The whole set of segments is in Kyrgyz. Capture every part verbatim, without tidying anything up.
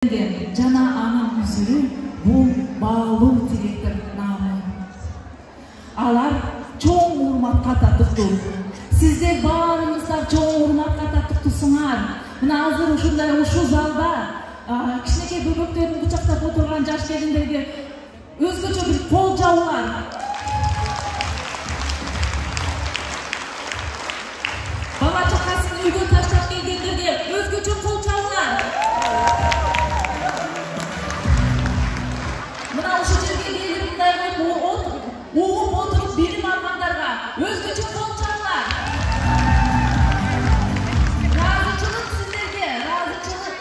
жана анын үзүрү бул баалуу директор наамы. Алар чоң урматка татыктуу. Сиздер баарыңыздар чоң урматка татыктуусуңар. Мына азыр ушундай ушул залда кичинекей бөбөктөрүн кучактап отурган жаш келиндерге өзгөчө бир кол жабуулар. Бала чакасын үйгө таштап келгендерге өзгөчө кол жабуулар. Мына ушул жерге келип мындай угуп отуруп билим алгандарга өзгөчө кол жабуулар. Ыраазычылык сиздерге, ыраазычылык.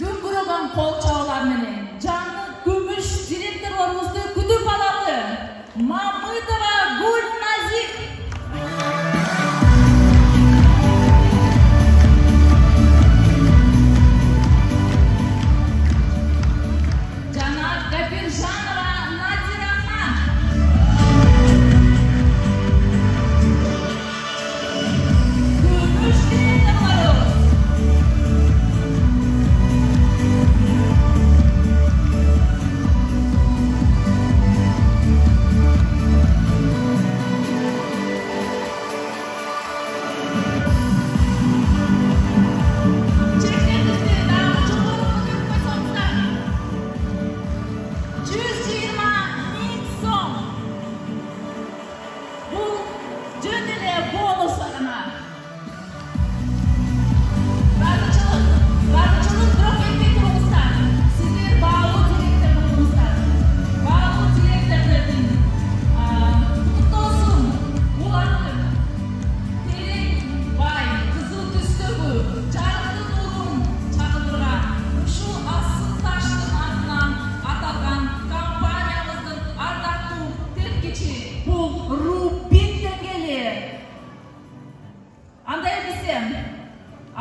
Дүңгүрөгөн кол жабуулар менен жаңы күмүш директорлорубузду күтүп алалы. Мамытова Гүлназик.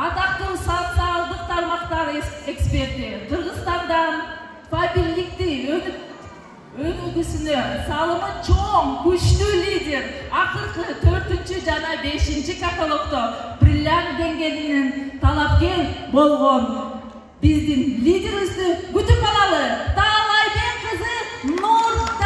Атактуу социалдык тармактар эксперти Кыргызстандан фабиликти өнүгүүсүнө салымы чоң, күчтүү лидер, акыркы төртүнчү жана бешинчи каталогдо бриллиант деңгээлинин талапкер болгон биздин лидерибизди күтүп алалы. Таалайбек кызы Нуртана.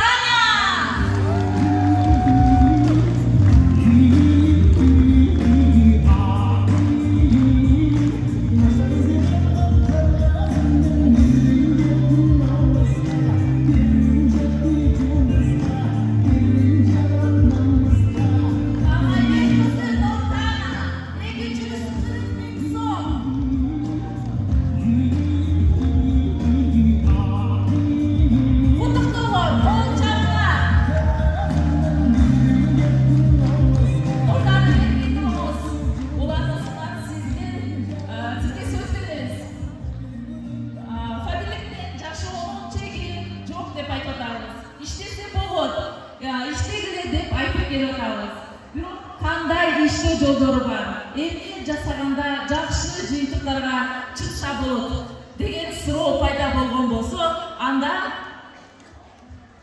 Кандай иштөө жолдору бар? Эмне жасаганда жакшы жыйынтыктарга чыкса болот деген суроо пайда болгон болсо, анда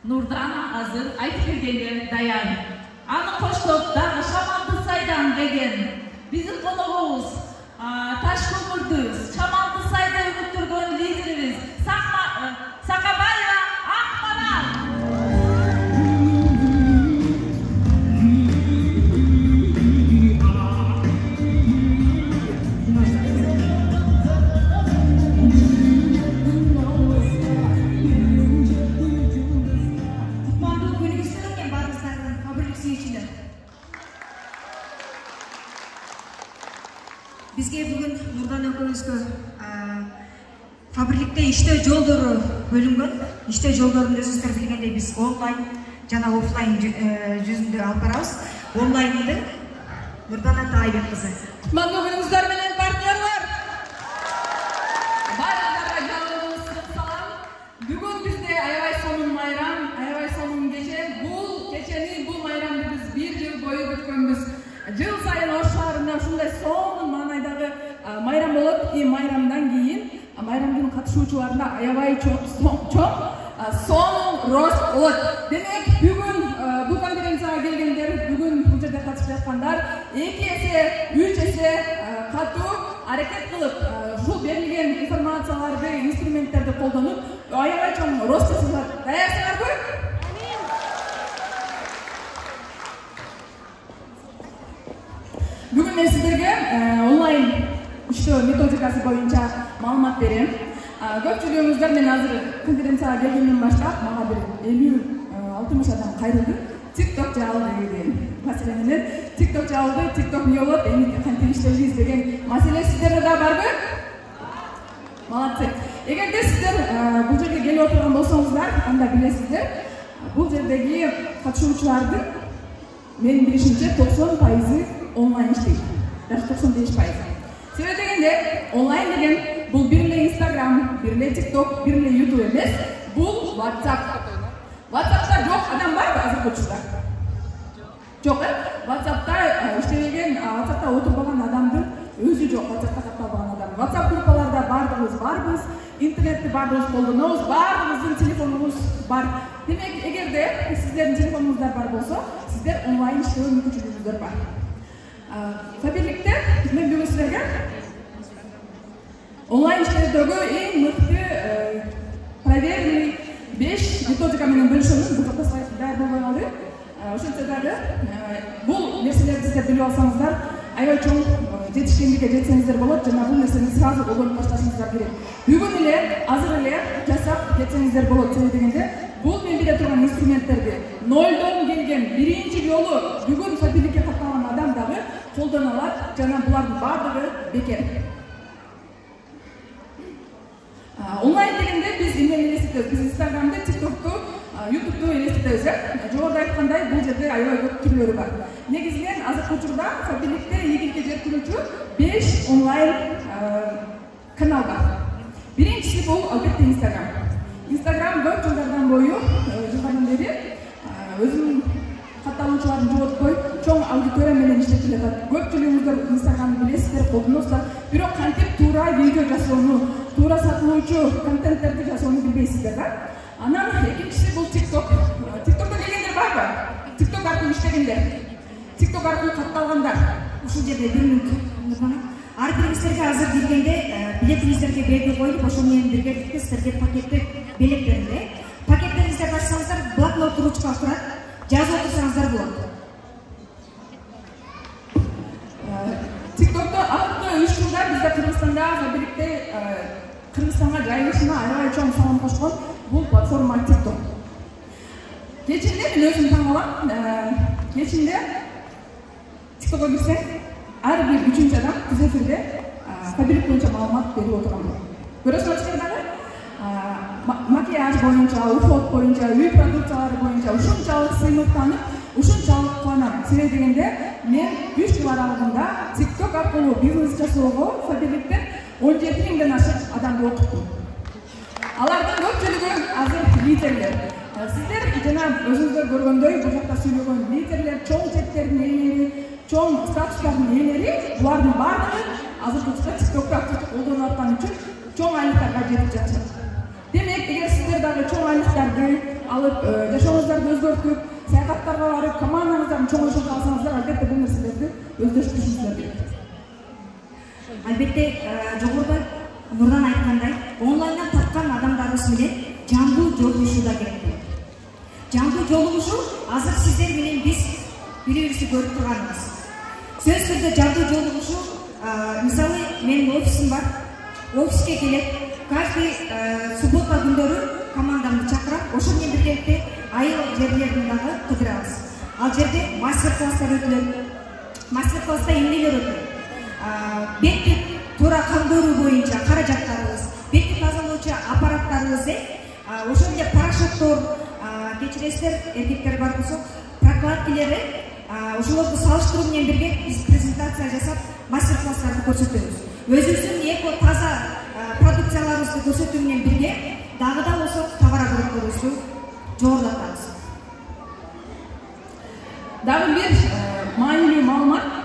Нурдана азыр айтып бергенге даяр. Аны коштоп дагы Шамалды сайдан келген биздин коногубуз Таш көмүрдү Шамалды сайда өнүктүргөн лидерибиз Сакабаева Акмарал. Бизге бүгүн Нурдан экөөбүзгө фабрикте иштөө жолдору бөлүнгөн. Иштөө жолдорун өзүңүздөр билгендей биз онлайн жана офлайн жүзүндө алып барабыз. Онлайнды Нурдана Таалайбек кызы. Кутмандуу күнүңүздөр менен партнерлор. Баарыңыздарга жалындырып салам. Бүгүн бизде аябай сонун майрам, аябай сонун кече. Бул кечени, бул майрамды биз бир жыл бою күткөнбүз. Жыл сайын Ош шаарында ушундай сонун маанайдагы майрам болот. И майрамдан кийин майрамдын катышуучуларына аябай чоң сонун рост болот. Демек, бүгүн бул конференцияга келгендер, бүгүн бул жерде катышып жаткан жаткандар эки эсе үч эсе катуу аракет кылып ушул берилген информацияларды инструменттерди колдонуп аябай чоң рост жасашат. Даярсыңарбы? Бүгүн мен сиздерге онлайн иштөө методикасы боюнча маалымат берем. Көпчүлүгүңүздөр мен азыр конференцияга келгенден баштап мага бир элүү алтымыш адам кайрылды. TikTok жабылды деген маселе менен. TikTok жабылды, TikTok эмне болот, эми кантип иштейбиз деген маселе сиздерде да барбы? Молодцы. Эгерде сиздер бул жерге келип отурган болсоңуздар, анда билесиздер, бул жердеги катышуучулардын менин билишимче токсон пайызы онлайн иштейт. Даже токсон беш пайыз. Себеби дегенде, онлайн деген бул бир эле Instagram, бир эле TikTok, бир эле YouTube эмес, бул WhatsApp. WhatsApp'та жок адам барбы азыркы учурда? Жок, э? WhatsApp'та иштебеген, WhatsApp'та отурбаган адамдын өзү жок, WhatsApp'та катталбаган адам. WhatsApp группаларда бардыгыбыз барбыз, интернетти бардыгыбыз колдонобуз, бардыгыбыздын телефонубуз бар. Демек, эгерде сиздердин телефонуңуздар бар болсо, сиздер онлайн иштөө мүмкүнчүлүгүңүздөр бар. Фабирликте мен бүгүн сиздерге онлайн иштөөдөгү эң мыкты проверенный беш методика менен бөлүшөмүн. Бул жакта слайд даяр болбой калды. Ошентсе дагы бул нерселерди сиздер билип алсаңыздар, аябай чоң жетишкендикке жетсеңиздер болот жана бул нерсени сразу колдонуп башташыңыздар керек. Бүгүн эле, азыр эле жасап кетсеңиздер болот. Себеби дегенде, бул мен бере турган инструменттерди нолдон келген биринчи жолу бүгүн фабирликке катталган адам дагы колдоно алат жана булардын баардыгы бекер. Онлайн дегенде биз эмнени элестетебиз? Биз Instagram'ды, TikTok'ту, YouTube'ду элестетебиз, э? Жогоруда айткандай, бул жерде аябай көп түрлөрү бар. Негизинен азыркы учурда фабирликте ийгиликке жеткирүүчү беш онлайн канал бар. Биринчиси бул албетте Instagram. Instagram көп жылдардан бою, жылдардан бери өзүнүн катталуучуларын жоготпой, чоң аудитория менен иштеп жатат. Көпчүлүгүңүздөр Instagram'ды билесиздер, колдоносуздар. Бирок кантип туура видео жасоону, туура сатылуучу контенттерди жасоону билбейсиздер да. Анан экинчиси бул TikTok. TikTok'то келгендер барбы? TikTok аркылуу иштегендер. TikTok аркылуу катталгандар. Ушул жерде бир мүнөт. Ар бириңиздерге азыр келгенде билетиңиздерге белги коюп, ошол менен биргеликте сиздерге пакеттик белек берилди. Пакеттериңиздерди ачсаңыздар, блокнот ручка турат. Жазып отурсаңыздар болот. TikTok'то алты үч жылда бизде Кыргызстанда фабирликте Кыргызстанга жайылышына аябай чоң салым кошкон бул платформа TikTok. Кечинде мен өзүм таң калам. Кечинде TikTok'ко кирсең, ар бир үчүнчү адам түз эфирде фабирлик боюнча маалымат берип отурган болот. Көрөсүңөр дагы? Макияж боюнча, уход боюнча, үй продукциялары боюнча ушунчалык сыймыктанып, ушунчалык кубанам. Себеби дегенде, мен үч жыл аралыгында TikTok аркылуу бизнес жасоого фабирликтен он жети миңден ашык адамды окуттум. Алардын көпчүлүгү азыр лидерлер. Сиздер жана өзүңүздөр көргөндөй, бул жакта сүйлөгөн лидерлер, чоң чектердин ээлери, чоң статустардын ээлери, булардын баардыгы азыркы учурда TikTok'то активдүү колдонуп аткан үчүн чоң айлыктарга жетип жатышат. Демек, эгер сиздер дагы чоң айлыктарды алып, жашооңуздарды өзгөртүп, саякаттарга барып, командаңыздарды чоңойтуп алсаңыздар, албетте бул нерселерди өздөштүрүшүңүздөр керек. Албетте, жогоруда Нурдан айткандай, онлайндан тапкан адамдарыбыз менен жандуу жолугушуу да керек. Жандуу жолугушуу азыр сиздер менен биз бири-бирибизди көрүп турганыбыз. Сөз түрдө жандуу жолугушуу, мисалы, менин офисим бар. Офиске келет, каждый суббота күндөрү командамды чакырып, ошол менен биргеликте айыл жерлерин дагы кыдырабыз. Ал жерде мастер-класстар өтүлөт. Мастер-класста эмнелер өтөт? Бетти туура камдыруу боюнча каражаттарыбыз, бетти тазалоочу аппараттарыбыз, ошол эле порошоктор, кечиресиздер, эркектер бар болсо, прокладкилери, ошолорду салыштыруу менен бирге биз презентация жасап, мастер-класстарды көрсөтөбүз. Өзүбүздүн эко таза продукцияларыбызды көрсөтүү менен бирге дагы да болсо товар оборотторубузду жогорулатабыз. Дагы бир маанилүү маалымат.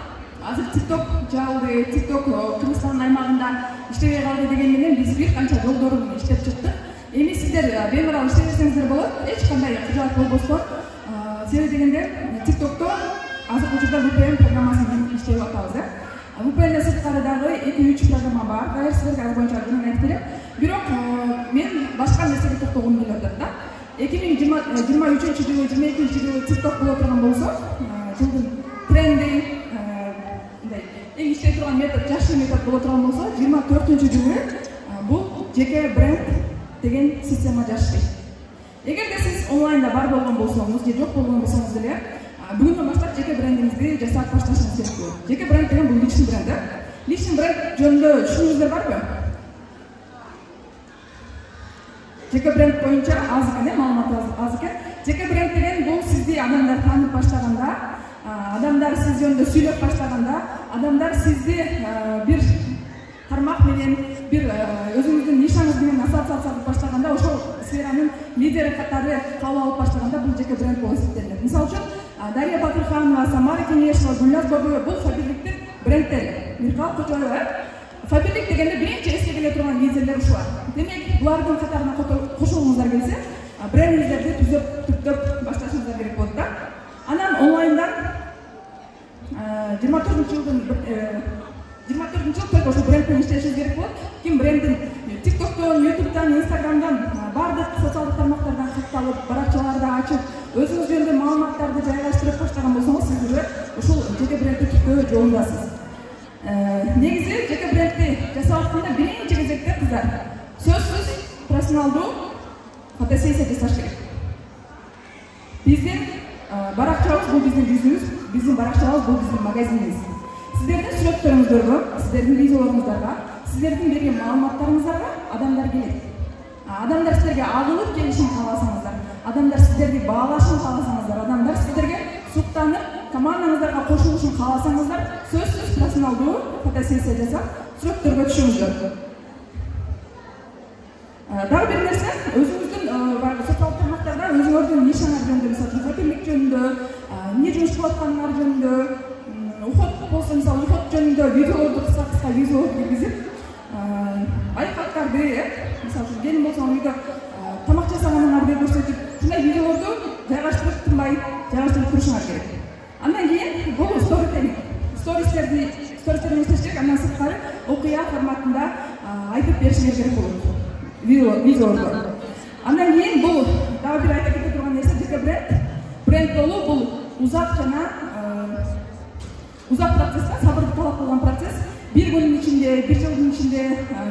Азыр TikTok жабылды, TikTok Кыргызстан аймагында иштебей калды деген менен биз бир канча жолдорун иштеп чыктык. Эми сиздер бемарал иштей берсеңиздер болот, эч кандай кыжаат болбостон. Себеби дегенде TikTok'то азыркы учурда ви пи эн программасын иштеп атабыз да. ви пи энден сырткары дагы эки үч программа бар. Дайыр силерге ал боюнча жөн айтып берем. Бирок мен башка нерсеге токтогум келип атат да. эки миң жыйырма үчүнчү жылы, жыйырма экинчи жылы TikTok боло турган болсо, жылдын тренди, мындай эң иштей турган метод, жакшы метод боло турган болсо, жыйырма төртүнчү жылы бул жеке бренд деген система жашты. Эгерде сиз онлайнда бар болгон болсоңуз, же жок болгон болсоңуз деле, бүгүндөн баштап жеке брендиңизди жасап башташыңыз керек болот. Жеке бренд деген бул личный бренд да. Личный бренд жөнүндө түшүнүгүңүздөр барбы? Жеке бренд боюнча аз экен, э, маалымат аз экен. Жеке бренд деген бул сизди адамдар таанып баштаганда, адамдар сиз жөнүндө сүйлөп баштаганда, адамдар сизди бир тармак менен, бир өзүңүздүн нишаңыз менен ассоциация кылып баштаганда, ошол сферанын лидери катары кабыл алып баштаганда бул жеке бренд болуп эсептелет. Мисалы үчүн Дарья Батырханова, Самара Кенешова, Гүлназ Бабоева бул Фаберликтин брендтери. Миркал Кочоева. Фаберлик дегенде биринчи эске келе турган лидерлер ушулар. Демек, булардын катарына кошулуңуздар келсе, брендиңиздерди түзөп, түптөп башташыңыздар керек болот да. Анан онлайндан жыйырма төртүнчү жылдын жыйырма төртүнчү жыл только ошол бренд менен иштешиңиз керек болот. Ким брендин TikToктон, YouTube'дан, Instagram'дан, бардык социалдык тармактардан катталып, баракчаларды ачып, өзүңүз жөнүндө маалыматтарды жайгаштырып баштаган болсоңуз, сиз уже ушул жеке брендти түптөө жолундасыз. Негизи жеке брендти жасап атканда биринчи кезекте кыздар сөзсүз профессионалдуу фотосессия жасаш керек. Биздин баракчабыз бул биздин жүзүбүз, биздин баракчабыз бул биздин магазинибиз. Сиздердин сүрөттөрүңүздөргө, сиздердин видеолоруңуздарга, сиздердин берген маалыматтарыңыздарга адамдар келет. Адамдар сиздерге агылып келишин кааласаңыздар, адамдар сиздерди баалашын кааласаңыздар, адамдар сиздерге суктанып, командаңыздарга кошулушун кааласаңыздар, сөзсүз профессионалдуу фотосессия жасап, сүрөттөргө түшүңүздөр. Дагы бир нерсе, өзүңүздүн социалдык тармактарда өзүңөрдүн нишаңар жөнүндө, мисалы үчүн фаберлик жөнүндө, эмне жумуш кылып атканыңар жөнүндө, уход болсо, мисалы уход жөнүндө видеолорду кыска-кыска видео киргизип, айкаттарды, мисалы үчүн келин болсо үйдө тамак жасаганыңарды көрсөтүп, ушундай видеолорду жайгаштырып тынбай жайгаштырып турушуңар керек. Андан кийин бул сторителлинг. Стористерди, стористерди иштеш керек, андан сырткары окуя форматында айтып беришиңер керек болот. Видео, видеолорду. Андан кийин бул дагы бир айта кете турган нерсе, жеке бренд. Бренд болуу бул узак жана узак процесс, сабырды талап кылган процесс. Бир күндүн ичинде, бир жылдын ичинде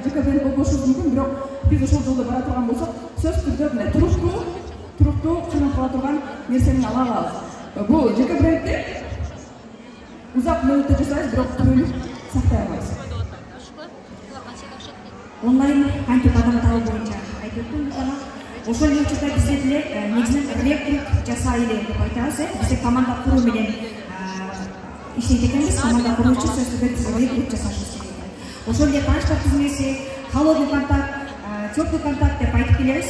жеке бренд болбошубуз мүмкүн, бирок биз ошол жолдо бара турган болсок, сөз түрдө мындай туруктуу, туруктуу кыймыл кыла турган нерсени ала алабыз. Бул жеке брендти узак мөөнөттө жасайбыз, бирок түбөлүк сактай албайбыз. Онлайн кантип адам табуу боюнча айтып өттүм жана ошол учурда бизде деле негизинен рекрут жасайлы деп айтабыз, э. Бизде команда куруу менен иштейт экенбиз, команда куруу үчүн сөз түрдө биз рекрут жасашыбыз керек. Ошол эле тааныштар түзмөсү, холодный контакт, теплый контакт деп айтып келебиз.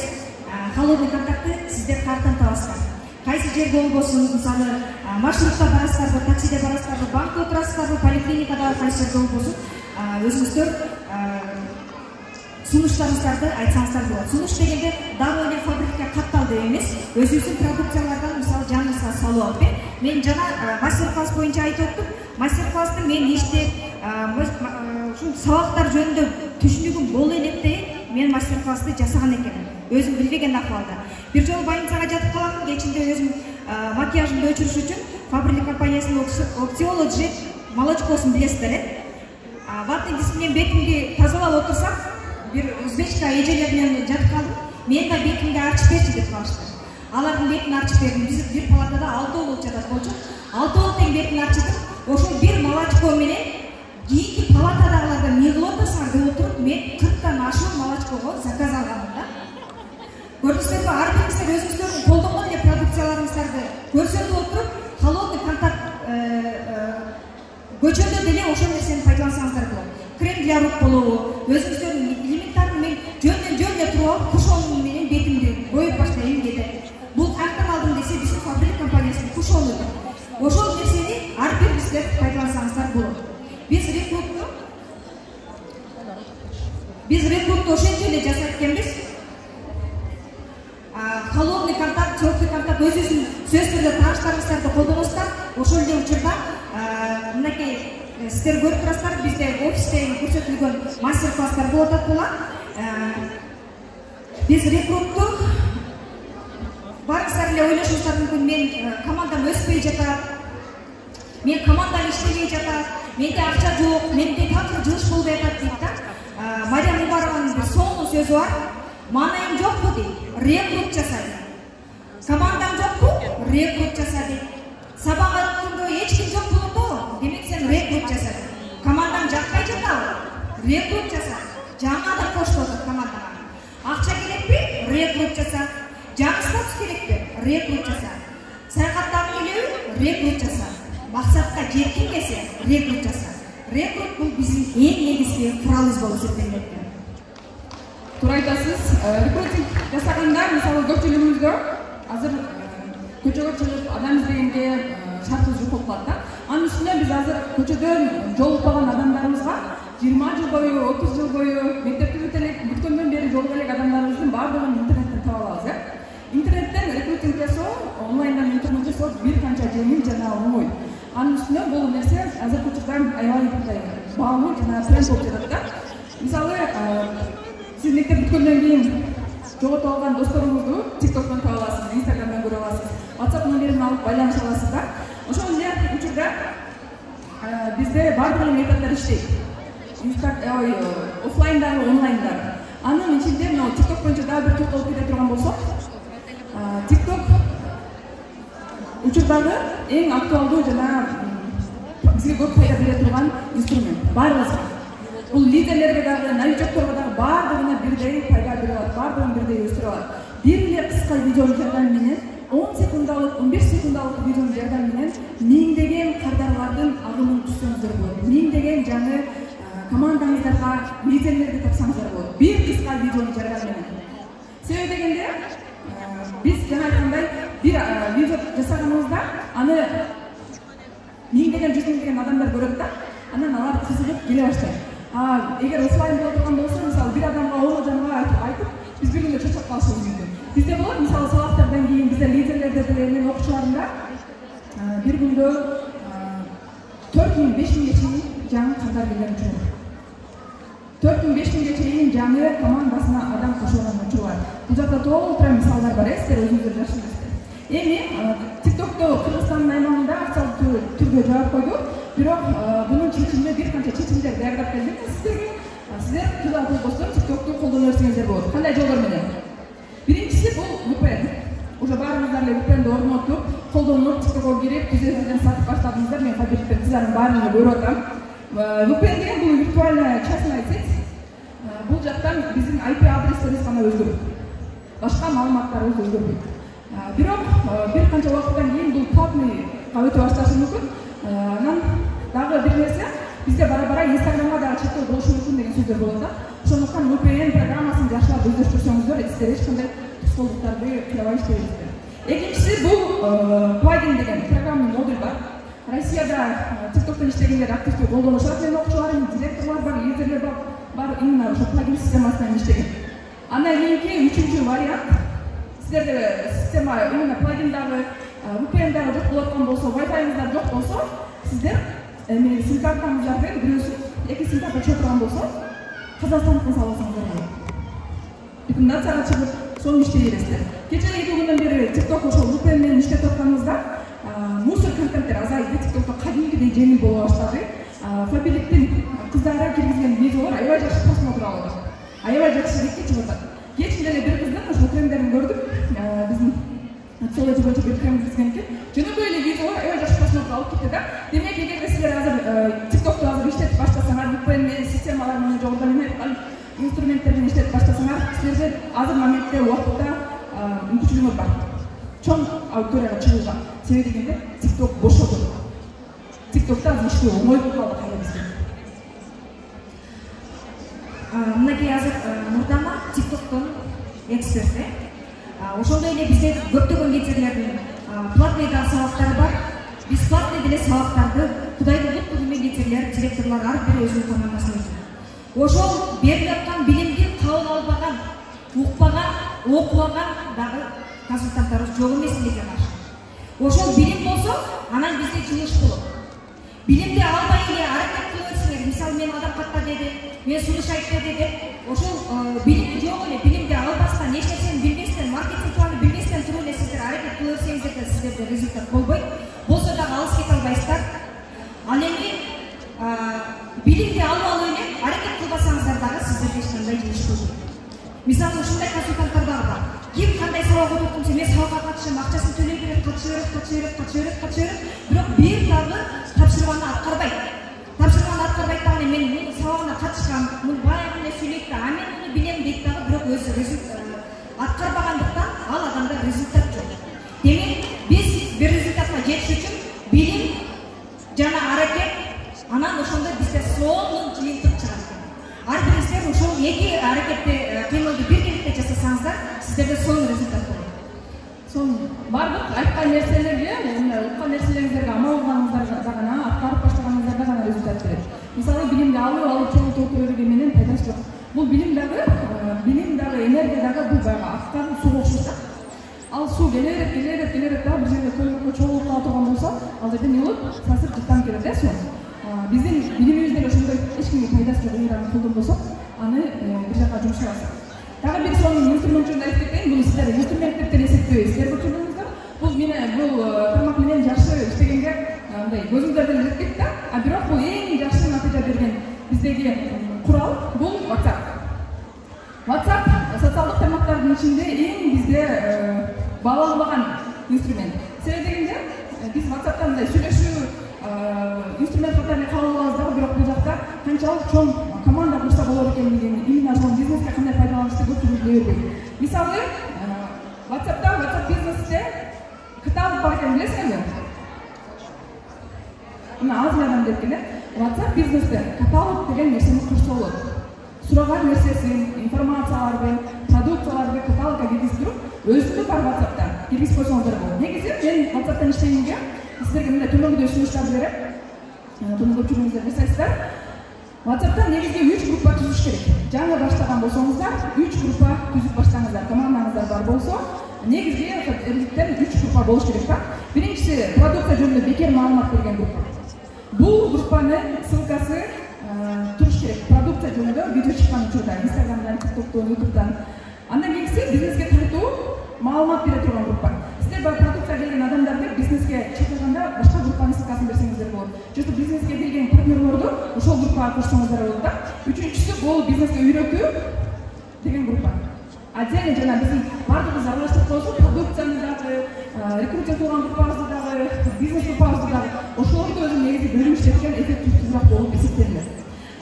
Холодный контактты сиздер каяктан табасыздар? Кайсы жерде болбосун, мисалы маршрутта барасыздарбы, таксиде барасыздарбы, банкта отурасыздарбы, поликлиникада кайсы жерде болбосун, өзүңүздөр сунуштарыңыздарды айтсаңыздар болот. Сунуш дегенде дагы эле фабрикага катталды эмес, өзүбүздүн продукциялардан мисалы жаныңызга салып алып, мен жана мастер-класс боюнча айтып өттүм. Мастер-класстын мен иштеп, ушул сабактар жөнүндө түшүнүгүм боло электе мен мастер-классты жасаган экенмин. Өзүм билбеген акыбалда. Бир жолу больницага жатып каламын, кечинде өзүм макияжымды өчүрүш үчүн Фаберлик компаниясынын Октиоло Джет молочкосун билесиздер, э? Ватный диск менен бетимди тазалап отурсам, бир узбечка эжелер менен жатып калдым. Мен да бетимди арчып берчи деп калышты. Алардын бетин арчып бердим. Биз бир палатада алтоо болуп жатат болчу. Алтоо тең бетин арчытып, ошол бир молочко менен кийинки палатадагыларга эмне кылып атасыңар деп отуруп, мен кырктан ашуун молочкого заказ алганмын да. Көрдүңүздөрбү, ар бириңиздер өзүңүздөрдүн колдонгон эле продукцияларыңыздарды көрсөтүп отуруп, холодный контакт көчөдө деле ошол нерсени пайдалансаңыздар болот. Крем для рук болобу, өзүңүздөрдүн элементарный мен жөндөн жөнүнө туруп алып, кушону менен бетимди боюп баштайм деди. Бул каяктан алдым десе, биздин Фаберлик компаниясынын кушону. Ошол нерсени ар бириңиздер пайдалансаңыздар болот. Биз рекрутту Биз рекрутту ошентип эле жасайт экенбиз. Холодный контакт, теплый контакт бардык өзүбүздүн сөз түрдө тааныштарыңыздарды колдоносуздар. Ошол эле учурда мынакей сиздер көрүп турасыздар, бизде офисте көрсөтүлгөн мастер-класстар болуп атат була. Биз рекруттук барыңыздар эле ойлошуңуздар мүмкүн, мен командам өспөй жатат, мен командам иштебей жатат, менде акча жок, менде такыр жылыш болбой атат дейт да. Мария Мубарованын бир соңку сөзү бар. Маанайым жокпу дейт, рекрут жаса дейт. Командам жокпу, рекрут жаса дейт. Сабак өткөндө эч ким жок болундо, демек сен рекрут жаса дейт. Командам жакпай жатабы, рекрут жаса. Жаңы адам кошулуп атат командага. Акча керекпи, рекрут жаса. Жаңы статус керекпи, рекрут жаса. Саякаттагың келеби, рекрут жаса. Максатка жеткиң келсе, рекрут жаса. Рекрут бул биздин эң негизги куралыбыз болуп эсептелет. Туура айтасыз. Рекрутинг жасаганда, мисалы көпчүлүгүбүздө азыр көчөгө чыгып адам издегенге шартыбыз жок болуп калат да. Анын үстүнө биз азыр көчөдөн жолукпаган адамдарыбызга жыйырма жыл бою, отуз жыл бою мектепти бүткөндөн бери жолуга элек адамдарыбыздын баардыгын интернеттен таап алабыз, э? Интернеттен рекрутинг жасоо, онлайндан интернет жасоо бир канча жеңил жана оңой. Анын үстүнө бул нерсе азыркы учурда аябай мындай баалуу жана тренд болуп жатат да. Мисалы, сиз мектеп бүткөндөн кийин жоготуп алган досторуңузду TikTok'тон таап аласыз, Instagram'дан көрүп аласыз, WhatsApp номерин алып байланыша аласыз да. Ошол эле учурда бизде баардык методдор иштейт. Офлайндагы, онлайндагы. Анын ичинде мына TikTok боюнча дагы бир токтолуп кете турган болсок, TikTok учурдагы эң актуалдуу жана бизге көп пайда бере турган инструмент. Баарыбызга. Бул лидерлерге дагы, новичокторго дагы баардыгына бирдей пайда берип алат, баардыгын бирдей өстүрүп алат. Бир эле кыска видеонун жардамы менен, он секундалык, он беш секундалык видеонун жардамы менен миңдеген кардарлардын агымын түзсөңүздөр болот. Миңдеген жаңы командаңыздарга лидерлерди тапсаңыздар болот. Бир кыска видеонун жардамы менен. Себеби дегенде, биз жана айткандай бир видео жасаганыбызда аны миңдеген, жүз миңдеген адамдар көрөт да, анан алар кызыгып келе баштайт. А эгер офлайн боло турган болсо, мисалы бир адамга он адамга айтып, биз бир күндө чочоп калышыбыз мүмкүн. Бизде болот, мисалы сабактардан кийин бизде лидерлерде деле мен окуучуларымда бир күндө төрт миң беш миңге чейин жаңы кыздар келген учур. төрт миң беш миңге чейин жаңы командасына адам кошулган учур бар. Бул жакта толтура мисалдар бар, сиздер өзүңүздөр жакшы билесиздер. Эми TikTok'то Кыргызстандын аймагында официалдуу түрдө жаап койдук. Бирок бунун чечимине бир канча чечимдер даярдап келдик сиздерге. Сиздер кыла болбостон TikTok'ту колдоно берсеңиздер болот. Кандай жолдор менен? Биринчиси бул ви пи эн. Уже баарыңыздар эле ви пи энди орнотуп, колдонуп, TikTok'ко кирип, түзөтүлгөн сатып баштадыңыздар. Мен кабилеттен сиздердин баарын көрүп атам. ви пи эн деген бул виртуальная частная сеть. Бул жактан биздин ай пи адрестерибиз гана өзгөрөт. Башка маалыматтарыбыз өзгөрбөйт. Бирок бир канча убакыттан кийин бул платныйга өтө башташы мүмкүн. Анан дагы бир нерсе, бизде бара-бара Instagram'га дагы чектөө болушу мүмкүн деген сөздөр болот да. Ошондуктан ви пи эн программасын жакшылап өздөштүрсөңүздөр, сиздер эч кандай тоскоолдуктарды кыябай иштейсиздер. Экинчиси бул плагин деген программный модуль бар. Россияда TikTok'тон иштегендер активдүү колдонушат. Менин окуучуларым, директорлор бар, лидерлер бар, бар именно ошо плагин системасынан иштеген. Андан кийинки үчүнчү вариант, сиздерде система именно плагиндагы ви пи эн дагы жок болуп аткан болсо, Wi-Fi'ңыздар жок болсо, сиздер эми сим картаңыздардын бирөөсү эки сим карта чыгып турган болсо, Казакстандыкын салсаңыздар болот. Рекомендацияга чыгып, сону иштей бересиздер. Кече эки күндөн бери TikTok ошол ви пи эн менен иштеп атканыбызда мусор контенттер азайды, TikTok'то кадимкидей жеңил боло баштады. Фабиликтин кыздары киргизген видеолор аябай жакшы просмотр алып атат. Аябай жакшы бетке чыгып атат. Кечин деле бир кыздын ошол трендерин көрдүк. Биздин социология боюнча бир тренд киргизген экен. Жөнөкөй эле видеолор аябай жакшы просмотр алып кетти да. Демек, эгерде сиздер азыр TikTok'то азыр иштетип баштасаңар, ви пи эн менен системалар менен жогоруда мен айткан инструменттер менен иштетип баштасаңар, силерде азыр моментте убакытта мүмкүнчүлүгүңөр бар. Чоң аудиторияга чыгууга. Себеби дегенде TikTok бошоду. TikTok'та азыр иштөө оңой болуп калды кайра бизге. Мынакей азыр Нурдана TikTok'тон эксперти. Ошондой эле бизде көптөгөн кетирлердин платный да сабактары бар. Бесплатный деле сабактарды Кудайдын луттугу менен кетирлер, директорлор ар бири өзүнүн командасына өтөт. Ошол берилип аткан билимди кабыл албаган, укпаган, окубаган дагы консультанттарыбыз жок эмес эле каршы. Ошол билим болсо, анан бизде чыгыш болот. Билимди албай эле аракет кылып, мисалы мен адам катта деди, мен сунуш айтты деди. Ошол билим жок эле, билимди албастан, эч нерсени билбестен, маркетинг планы билбестен туруп эле сиздер аракет кылып өтсөңүздөр да сиздерде результат болбойт. Болсо дагы алыс кете албайсыздар. Ал эми билимди алып алып эле аракет кылбасаңыздар дагы сиздерге эч кандай жыгыш болбойт. Мисалы ушундай консультанттар дагы бар. Ким кандай сабак окуп турса, мен сабакка катышам, акчасын төлөй берет, катыша берет, катыша берет, катыша берет, катыша берет, бирок бир дагы тапшырганды аткарбайт. Тапшырганды аткарбайт дагы мен мунун сабагына катышкам, мун баягы эле сүйлөйт да, а мен муну билем дейт дагы, бирок өзү результат аткарбагандыктан ал адамда результат жок. Демек, биз бир результатка жетиш үчүн билим жана аракет, анан ошондо бизде сонун жыйынтык чыгат экен. Ар бириңиздер ошол эки аракетти, кыймылды биргеликте жасасаңыздар, сиздерде сонун результат болот. Сонун бардык айткан нерселерге, мына уккан нерселериңизге амал кылганыңыздарда гана, аткарып баштаганыңыздарда гана результат берет. Мисалы билимди алып алып чоңойтуп отура берген менен пайдасы жок. Бул билим дагы, билим дагы, энергия дагы бул баягы аккан сууга окшойт. Ал суу келе берет, келе берет, келе берет да, бир жерде көлгө чогулуп кала турган болсо, ал жерден не болот? Сасып жыттан келет да суу. Биздин билимибизде ошондой эч кимге пайдасы жок ыйраны колдонбосок, аны бир жака жумшабасак. Дагы бир сонун инструмент жөнүндө айтып кетейин. Бул сиздер инструмент деп деле эсептебейсиздер көрчүңүздөр. Бул менен бул тармак менен жакшы иштегенге мындай көзүңүздөр деле жетет да. А бирок бул эң жакшы натыйжа берген биздеги курал бул WhatsApp. WhatsApp социалдык тармактардын ичинде эң бизде бааланбаган инструмент. Себеби дегенде биз WhatsApp'та мындай сүйлөшүү инструмент катары кабыл алабыз дагы, бирок бул жакта канчалык чоң команда курса болот экенлигин, именно ошол бизнеске кандай пайдаланышты көпчүлүк биле бербейт. Мисалы, WhatsApp'та, WhatsApp бизнесте каталог бар экенин билесиңерби? Мына Азиядан деп келе, WhatsApp бизнесте каталог деген нерсени курса болот. Сураган нерсесин, информацияларды, продукцияларды каталогга киргизип туруп, өзүндө бар WhatsApp'та киргизип койсоңуздар болот. Негизи мен WhatsApp'тан иштегенге сиздерге мындай төмөндө сунуштар берем. Буну көпчүлүгүңүздөр жасайсыздар. WhatsApp'та негизги үч группа түзүш керек. Жаңы баштаган болсоңуздар, үч группа түзүп баштаңыздар. Командаңыздар бар болсо, негизги элдиктен үч группа болуш керек да. Биринчиси продукция жөнүндө бекер маалымат берген группа. Бул группанын ссылкасы туруш керек. Продукция жөнүндө видео чыккан учурда, Instagram'дан, TikTok'тон, YouTube'дан. Андан кийинкиси бизнеске тартуу маалымат бере турган группа. Сиздер бар продукция келген адамдарды бизнеске чакырганда башка группанын ссылкасын берсеңиздер болот. Жото бизнеске келген партнерлорду ошол группага кошсоңуздар болот да. Үчүнчүсү бул бизнеске үйрөтүү деген группа. Отдельно жана биздин бардыгыбыз аралаштырып коесуз, продукцияны дагы, рекрутинг кылган группабызды дагы, бизнес группабызды дагы, ошолорду өзү негизи бөлүп иштеткен эффективдүүрөөк болуп эсептелет.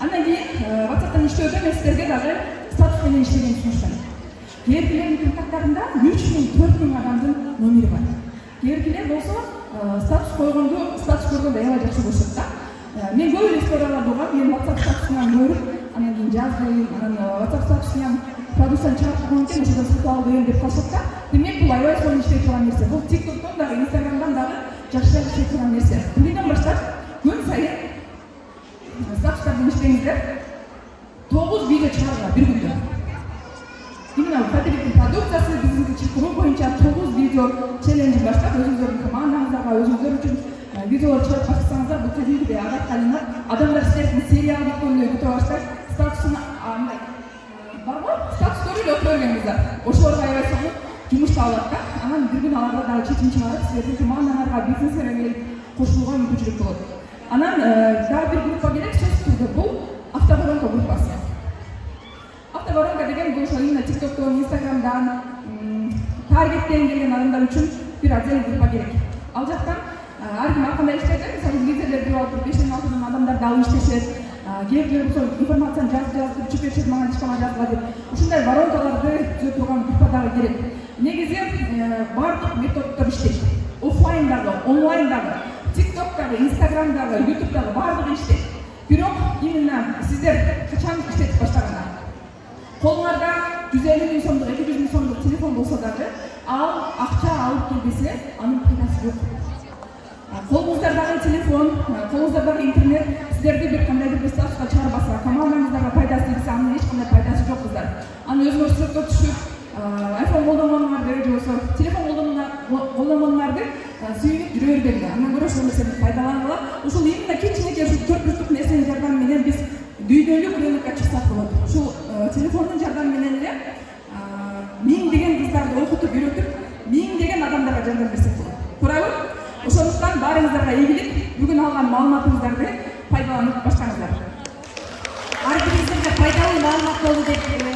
Андан кийин WhatsApp'тан иштөөдө мен сиздерге дагы статус менен иштегенди сунуштайм. Кээркилердин контакттарында үч миң төрт миң адамдын номери бар. Кээркилер болсо статус койгонду, статус көргөндө аябай жакшы көрүшөт да. Мен көп эле историялар болгон, мен WhatsApp статусунан көрүп, анан кийин жаздым, анан WhatsApp статусунан продукцияны чыгарып койгон экен, ошодон сатып алдым деп калышат да. Демек бул аябай сонун иштей турган нерсе. Бул TikTok'тон дагы, Instagram'дан дагы жакшы иштей турган нерсе. Бүгүндөн баштап күн сайын статустардан иштеңиздер. тогуз видео чыгаргыла бир күндө. Именно Фабриктин продукциясы бизнеске чакыруу боюнча тогуз видео челленджи баштап, өзүңүздөрдүн командаңыздарга, өзүңүздөр үчүн видеолор чыгарып баштасаңыздар, бул кәдимгидей адатка айланат. Адамдар сиздердин сериал бүткөндө күтүп баштайт. Статусун андай барбы? Статустарды эле окуп бергенбиздар. Ошолорго аябай сонун жумуш табылат да. Анан бир күн аларга дагы чечим чыгарып, сиздердин командаңарга, бизнесиңерге кошулууга мүмкүнчүлүк болот. Анан дагы бир группа керек, сөзсүз түрдө бул автоворонка группасы. Автоворонка деген бул ошо именно TikTok'тон, Instagram'дан таргеттен келген адамдар үчүн бир отдельный группа керек. Ал жактан ар ким ар кандай иштейт, мисалы лидерлер бир алып бештен алтыдан адамдарды алып иштешет. Кээде ошол информацияны жазып жазып чыгып беришет, мага ишкана жазгыла деп. Ушундай воронкаларды түзө турган группа дагы керек. Негизи бардык методдор иштейт. Оффлайндагы, онлайндагы, TikTok'тагы, Instagram'дагы, YouTube'дагы бардыгы иштейт. Бирок именно сиздер качан иштетип баштагандар? Колуңарда жүз элүү миң сомдук, эки жүз миң сомдук телефон болсо дагы, ал акча алып келбесе, анын пайдасы жок. Колуңуздардагы телефон, колуңуздардагы интернет сиздерди бир кандайдыр бир статуска чыгарбаса, командаңыздарга пайдасы тийсе, анын эч кандай пайдасы жок кыздар. Аны өзүңөр сыртка түшүп, айфон колдонгонуңарды же болбосо телефон колдонгонуңарды сүйүнүп жүрө бербеңиз. Андан көрө ошол нерсени пайдалангыла. Ушул именно кичинекей ушул төрт бурчтук нерсенин жардамы менен биз дүйнөлүк рынокко чыксак болот. Ушул телефондун жардамы менен эле миңдеген кыздарды окутуп, үйрөтүп, миңдеген адамдарга жардам берсек болот. Туурабы? Ошондуктан баарыңыздарга ийгилик, бүгүн алган маалыматыңыздарды пайдаланып баштаңыздар. Ар бириңизге пайдалуу маалымат болду деп